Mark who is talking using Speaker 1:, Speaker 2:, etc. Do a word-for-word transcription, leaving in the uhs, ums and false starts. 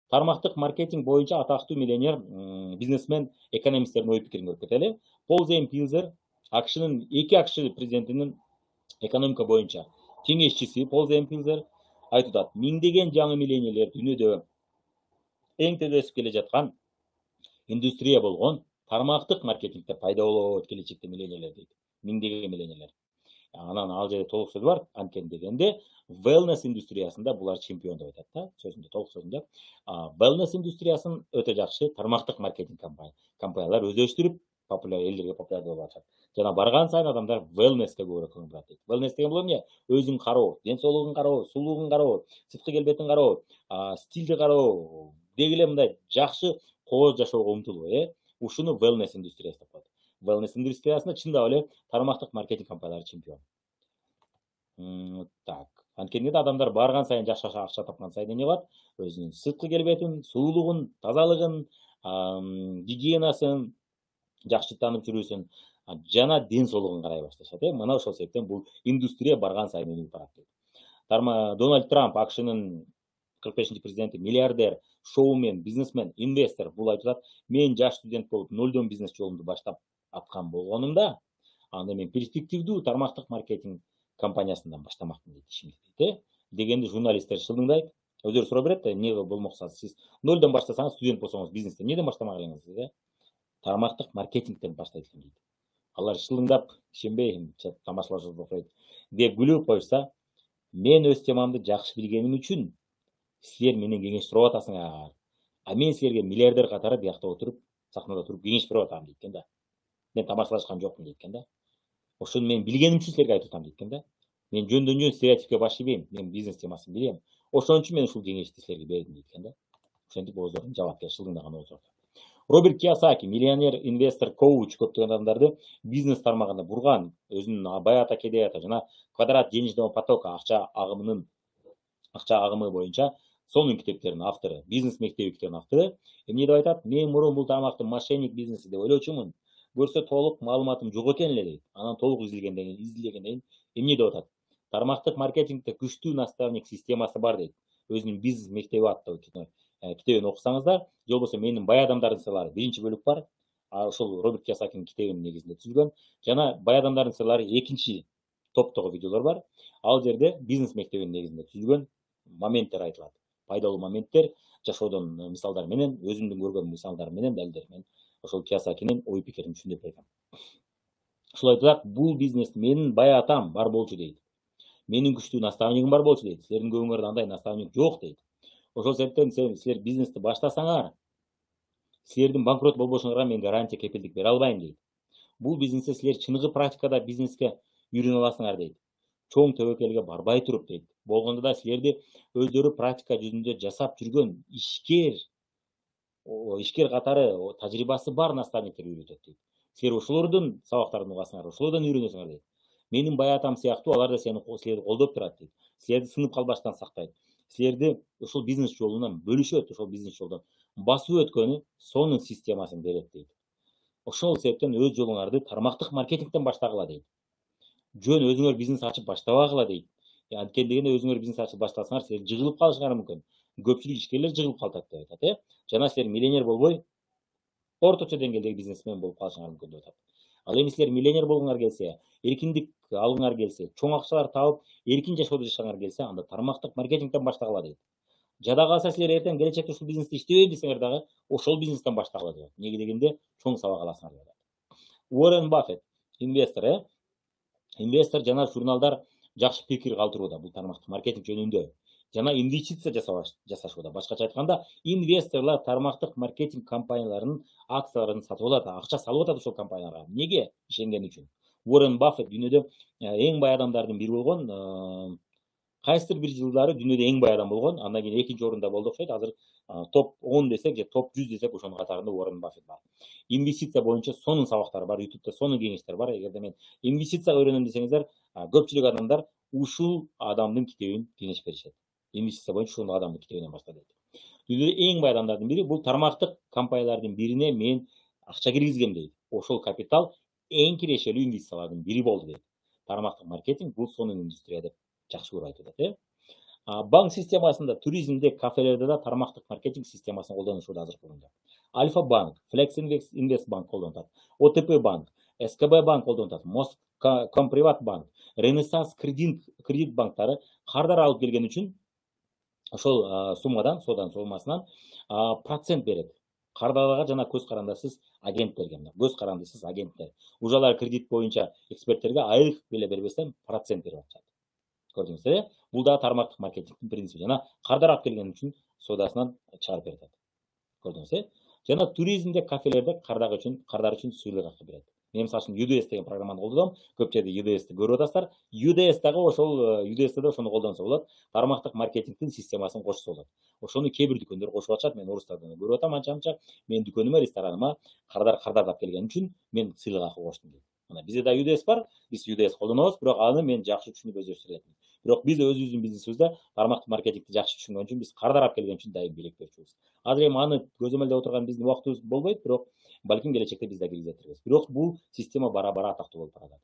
Speaker 1: Тармактык маркетинг боюнча атактуу миллионер бизнесмен, экономисттердин ой пикирин көрүп кетели. Пол Зейн Пилзер, АКШнын эки АКШ президентинин экономика боюнча кеңешчиси Пол Зейн Пилзер айтып атат: миңдеген жаңы миллионерлер дүйнөдө эң тез өсүп келе жаткан индустрия болгон тармактык маркетингде пайда болот келечекте миллионерлер дейт. Миңдеген миллионерлер. Анан ал жерде толук сөз бар. Анткени дегенде wellness индустриясында булар чемпион деп айтат да. Сөзүндө толук сөзүндө wellness индустриясын өтө жакшы тармактык маркетинг компаниялар өздөштүрүп популяр элдерге популярдуу болуп атат. Жана барган сайын адамдар wellnessке көбүрөөк көңүл бурат дейт. Wellness деген бул эмне? Өзүн кароо, ден соолугун кароо, сулуулугун кароо, сырткы келбетин кароо, стилди кароо, деги эле мындай жакшы кооз жашоого умтулуу, э? Ушуну wellness индустриясы деп коет. Wellness индустриясында чындап эле тармактык маркетинг компаниялары чемпион. Так. Анткени адамдар барган сайын жакшы акча тапкан сайын эмне кылат? Өзүнүн сырткы келбетин, сулуулугун, тазалыгын, гигиенасын жакшы таанып жүрүүсүн жана ден соолугун карай башташат. Э? Мына ошол себептен бул индустрия барган сайын өнүгүп барат дейт. Тарма Дональд Трамп, АКШнын кырк бешинчи президенти, миллиардер, шоумен, бизнесмен, инвестор. Бул айтып атат: мен жаш студент болуп нолдон бизнес жолумду баштап аткан болгонумда, анда мен перспективдүү тармактык маркетинг компаниясынан баштамакмын дейт ишимди дейт. Дегенде журналисттер шылыңдайт. Өздөрү сурап берет да, эмне болмоксуз? Сиз нолдон баштасаңыз, студент болсоңуз бизнесте эмнеден баштамак элеңиз дейт? Тармактык маркетингден баштайт экен дейт. Алар шылыңдап, ишенбей тамашалашып окуйт. Деп күлүп коюшса, мен өз темамды жакшы билгеним үчүн силер менен кеңеш сурап атасыңар. А мен силерге миллиардер катары биякта отуруп, сахнада туруп кеңеш берип атам дейт экен да. Мен тамашалашкан жокмун дейт экен да. Ошону мен билгеним үчүн силерге айтып атам дейт экен да. Мен жөндөн жөн стереотипке баш ийбейм. Мен бизнес темасын билем. Ошон үчүн мен ушул кеңешти силерге бердим дейт экен да. Ошентип оозорун жабат экен, шылыңдаган оозорду. Роберт Кийосаки, миллионер, инвестор, коуч, көптөгөн адамдарды бизнес тармагында бурган, өзүнүн Баята Кедеята жана Квадрат денежного потока акча агымынын акча агымы боюнча сонун китептеринин автору, бизнес мектеби китебинин автору эмне деп айтат? Мен мурун бул тармакты мошенник бизнеси деп ойлочумун. Көрсө толук маалыматым жок экен эле дейт. Анан толук изилгенден кийин, изилдегенден кийин эмне деп атат? Тармактык маркетингде күчтүү наставник системасы бар дейт. Өзүнүн бизнес мектеби аттуу китебин окусаңыздар, же болбосо менин бай адамдардын сырлары биринчи бөлүк бар. Ошол Роберт Кийосакинин китебинин негизинде түзүлгөн. Жана бай адамдардын сырлары экинчи топтогу видеолор бар. Ал жерде бизнес мектебинин негизинде түзүлгөн моменттер айтылат. Пайдалуу моменттер, жашоодон мисалдар менен, өзүмдүн көргөн мисалдар менен, далилдер менен ошол Кийосакинин ой пикирин түшүндүрүп берген. Ушул айтат, бул бизнес менин бай атам бар болчу дейт. Менин күчтүү наставнигим бар болчу дейт. Силердин көбүңөрдө андай наставник жок дейт. Ошол себептен силер бизнести баштасаңар, силердин банкрот болбошуңарга мен гарантия, кепилдик бере албайм дейт. Бул бизнесте силер чыныгы практикада бизнеске үйрөнө аласыңар дейт. Чоң төбөкөлгө барбай туруп дейт. Болгондо да силерди өздөрү практика жүзүндө жасап жүргөн ишкер, ишкер катары тажрыйбасы бар наставниктер үйрөтөт дейт. Силер ошолордун сабактарын угасыңар, ошолордон үйрөнөсүңөр дейт. Менин бай атам сыяктуу алар да сени силерди колдоп турат дейт. Силерди сынып калбаштан сактайт. Силерди ошол бизнес жолунан бөлүшөт, ошол бизнес жолдон басып өткөнү сонун системасын берет дейт. Ошол себептен өз жолуңарды тармактык маркетингден баштагыла дейт. Жөн өзүңөр бизнес ачып баштабагыла дейт. Анткени дегенде өзүңөр бизнес ачып баштасаңар, силер жыгылып калышыңар мүмкүн. Көпчүлүк ишкерлер жыгылып калат деп айтат, э? Жана силер миллионер болбой, орточо деңгээлдеги бизнесмен болуп калышыңар мүмкүн деп айтат. Ал эми силер миллионер болгуңар келсе, эркиндик алгыңар келсе, чоң акчалар таап, эркин жашоодо жашагыңар келсе, анда тармактык маркетингден баштагыла дейт. Жада калса силер эртең келечекте ушул бизнесте иштебейм десеңер дагы, ошол бизнестен баштагыла дейт. Эмнеге дегенде, чоң сабак аласыңар деп айтат. Уоррен Баффет, инвестор, э? Инвестор жана журналдар жакшы пикир калтырууда бул тармактык маркетинг жөнүндө. Жана инвестиция жасашууда. Башкача айтканда, инвесторлор тармактык маркетинг компанияларынын акцияларын сатып алат, акча салып атат ошол компанияларга. Эмнеге? Ишенген үчүн. Уоррен Баффет дүйнөдө эң бай адамдардын бири болгон, кайсыдыр бир жылдары дүйнөдө эң бай адам болгон, андан кийин экинчи орунда болду окшойт. Азыр топ он десек же топ жүз десек ошонун катарында Уоррен Баффет бар. Инвестиция боюнча сонун сабактар бар, ютубта сонун кеңештер бар. Эгерде мен инвестицияга үйрөнөм десеңиздер, көпчүлүк адамдар ушул адамдын китебин кеңеш беришет. Инвестиция боюнча ушул адамдын китебинен башла дейт. Дүйнөдө эң бай адамдардын бири бул тармактык компаниялардын бирине мен акча киргизгем дейт. Ошол капитал эң кирешелүү инвестициялардын бири болду дейт. Тармактык маркетинг бул сонун индустрия деп жакшы көрүп айтып атат, э? Банк системасында, туризмде, кафелерде да тармактык маркетинг системасын колдонушууда азыркы учурда. Альфа банк, Flex Invest банк колдонуп атат, О Т П банк, С К Б банк колдонуп атат, Москомприват банк, Ренессанс кредит кредит банктары кардар алып келген үчүн ошол суммадан, содан сомасынан процент берет. Кардарларга жана көз карандысыз агенттерге, көз карандысыз агенттер. Ужалар кредит боюнча эксперттерге айлык беле бербестен процент берип атышат. Көрдүңүздөр, бул да тармактык маркетингдин принципи. Жана кардар алып келген үчүн содасынан чыгарып берет. Көрдүңүздөр? Жана туризмде, кафелерде кардар үчүн, кардар үчүн сыйлык акы берет. Мен мисалы үчүн ю ди эс деген программаны колдодум. Көп жерде ю ди эсти көрүп атасыздар. ю ди эс дагы ошол ю ди эсте да ошону колдонсо болот. Тармактык маркетингдин системасын кошсо болот. Ошону кээ бир дүкөндөр кошуп атышат. Мен орустардан көрүп атам анча-анча. Менин дүкөнүмө, рестораныма кардар кардарлап келген үчүн мен сыйлык акы коштум дейт. Мына бизде да ю ди эс бар. Биз ю ди эс колдонобуз, бирок аны мен жакшы түшүнүп өздөштүрөт. Бирок биз өзүбүздүн бизнесибизде тармактык маркетингди жакшы түшүнгөн үчүн биз кардар алып келген үчүн дайым белек берчүбүз. Азыр эми аны көзөмөлдөп отурган биздин убактыбыз болбойт, бирок балким келечекте биз да киргизет. Бирок бул система бара-бара атактуу болуп барат.